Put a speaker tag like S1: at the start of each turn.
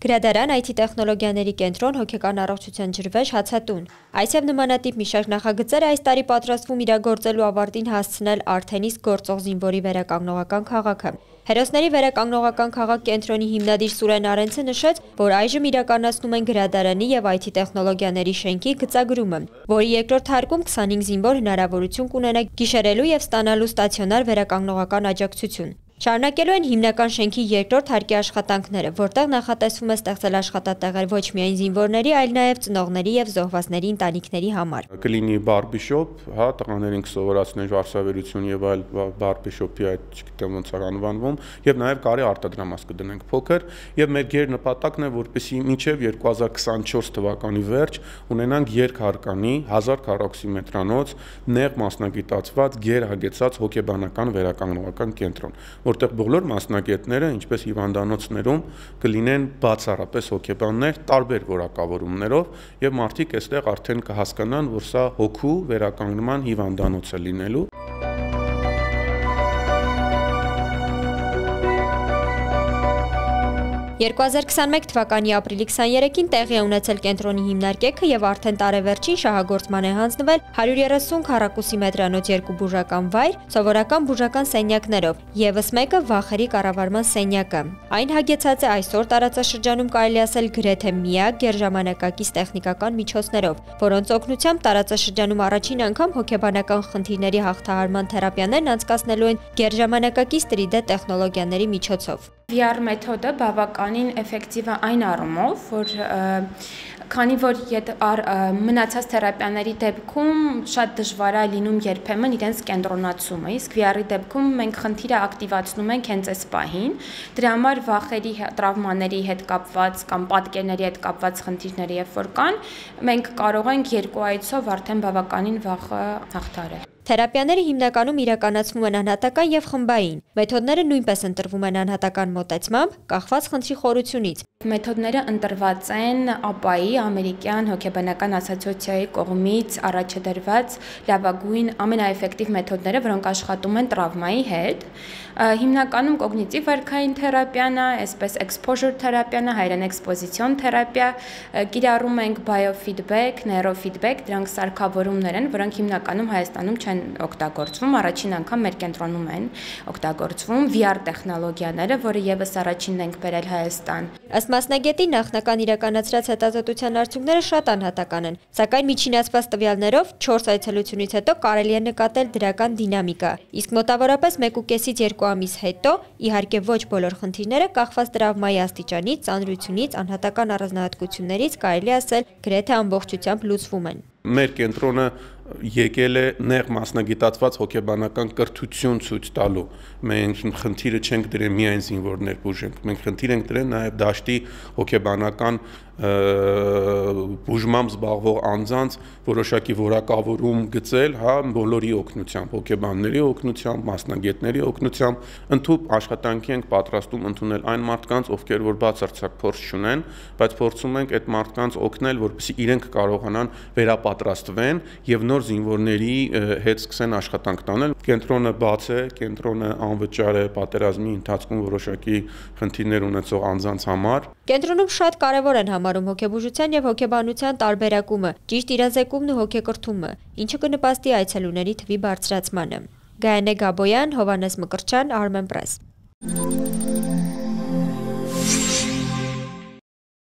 S1: Գրադարան, IT տեխնոլոգիաների կենտրոն, հոգեկան առողջության ջրվեժ, հացատուն։ Այս և նմանատիպ մի շարք նախագծեր այս տարի պատրաստվում իրագործելու ավարտին հասցնել արդեն իսկ գործող զինվորի վերականգնողական քաղաքը։ Հերոսների վերականգնողական քաղաք կենտրոնի հիմնադիր Սուրեն Արենցը նշեց, որ այժմ իրականացնում են գրադարանի և IT տեխնոլոգիաների շենքի գծագրումը, որի երկրորդ հարկում 25 զինվոր հնարավորություն կունենա գիշերելու և ստանալու ստացիոնար վերականգնողական աջակցություն։ Շարունակելու են հիմնական շենքի երկրորդ հարկի աշխատանքները, որտեղ նախատեսվում է ստեղծել աշխատատեղեր ոչ միայն զինվորների, այլ նաև ծնողների և զոհվածների ընտանիքների համար։
S2: Կլինի բարբիշոպ, տղաներին կսովորացնեն վարսավերություն եւ այլ բարբիշոպի այդ չգիտեմ ոնց է անվանվում, եւ նաև կարի արտադրամաս կդնենք փոքր, եւ մեր գերնպատակն է, որպեսզի մինչեւ 2024 թվականի վերջ ունենանք երկհարկանի 1000 քառակուսիմետրանոց նեղ մասնագիտացված գերհագեցած հոգեբանական վերականգնողական կենտրոն, որտեղ բոլոր մասնագետները, ինչպես հիվանդանոցներում, կլինեն բացառապես հոգեբաններ տարբեր որակավորումներով եւ մարդիկ այստեղ արդեն կհասկանան, որ սա հոգու վերականգնման հիվանդանոց է լինելու։
S1: 2021 թվականի ապրիլի 23-ին տեղի է ունեցել կենտրոնի հիմնարկեքը եւ արդեն տարեվերջին շահագործման է հանձնվել 130 քառակուսի մետրանոց երկու բուժական վայր, սովորական բուժական սենյակներով, եւս մեկը վախերի կառավարման սենյակը։ Այն հագեցած է այսօր տարածաշրջանում կարելի ասել գրեթե միակ գերժամանակակից տեխնիկական միջոցներով, որոնց օգնությամբ տարածաշրջանում առաջին անգամ հոգեբանական խնդիրների հաղթահարման թերապիաներն անցկացնելու են գերժամանակակից 3D տեխնոլոգիաների միջոցով։
S3: VR մեթոդը բավականին էֆեկտիվ է այն առումով, որ քանի որ մնացած թերապիաների դեպքում շատ դժվար է լինում երբեմն իրենց կենտրոնացումը, իսկ VR-ի դեպքում մենք խնդիրը ակտիվացնում ենք հենց այս պահին, դրա համար վախերի, տրավմաների հետ կապված կամ պատկերների հետ կապված խնդիրները երբ որ կան, մենք կարող ենք երկու այցով արդեն բավականին վախը հաղթահարել։
S1: Թերապիաները հիմնականում իրականացվում են անհատական եւ խմբային։ Մեթոդները նույնպես ընտրվում են անհատական մոտեցմամբ, կախված խնդրի խորությունից։
S3: Մեթոդները ընտրված են ԱՊԱ-ի, ամերիկյան հոգեբանական ասոցիացիայի կողմից առաջադրված լավագույն ամենաէֆեկտիվ մեթոդները, որոնք աշխատում են տրավմայի հետ։ Հիմնականում կոգնիտիվ վարքային թերապիան է, այսպես exposure թերապիան է, հայերեն էքսպոզիցիոն թերապիա, կիրառում ենք biofeedback, neurofeedback, դրանք սարքավորումներ են, որոնք հիմնականում Հայաստանում չեն օգտագործվում, առաջին անգամ մեր կենտրոնում են օգտագործվում VR տեխնոլոգիաները, որը եւս առաջինն ենք բերել Հայաստան։
S1: Ըստ մասնագետի նախնական իրականացրած հետազոտության արդյունքները շատ անհատական են, սակայն միջինացված տվյալներով 4 այցելությունից հետո կարելի է նկատել դրական դինամիկա, իսկ մոտավորապես 1.5-ից 2 ամիս հետո, իհարկե ոչ բոլոր խնդիրները կախված տրավմայի աստիճանից, ծանրությունից, անհատական առանձնահատկություններից կարելի ասել գրեթե ամբողջությամբ լուծվում են։
S2: Մեր կենտրոնը եկել է նեղ մասնագիտացված հոգեբանական կրթություն ցույց տալու։ Մենք խնդիրը չենք դրել միայն զինվորներ բուժենք, մենք խնդիր ենք դրել նաև դաշտի հոգեբանական բուժմամբ զբաղվող անձանց որոշակի որակավորում գծել, բոլորի օգնությամբ, հոգեբանների օգնությամբ, մասնագետների օգնությամբ, ընդհանուր աշխատանքի ենք պատրաստում ընդունել այն մարդկանց, ովքեր որ բացարձակ փորձ չունեն, բայց փորձում ենք այդ մարդկանց օգնել, որպեսզի իրենք կարողանան վերապատրաստվեն եւ նոր զինվորների հետ սկսեն աշխատանք տանել։ Կենտրոնը բաց է, կենտրոնը անվճար է պատերազմի ընթացքում որոշակի խնդիրներ ունեցող անձանց համար։
S1: Կենտրոնում շատ կարևոր են համարում հոգեբուժության եւ հոգեբանության տարբերակումը, ճիշտ իրազեկումն ու հոգեկրթումը, ինչը կնպաստի այցելուների թվի բարձրացմանը։ Գայանե Գաբոյան, Հովհաննես Մկրտչյան, Armenpress։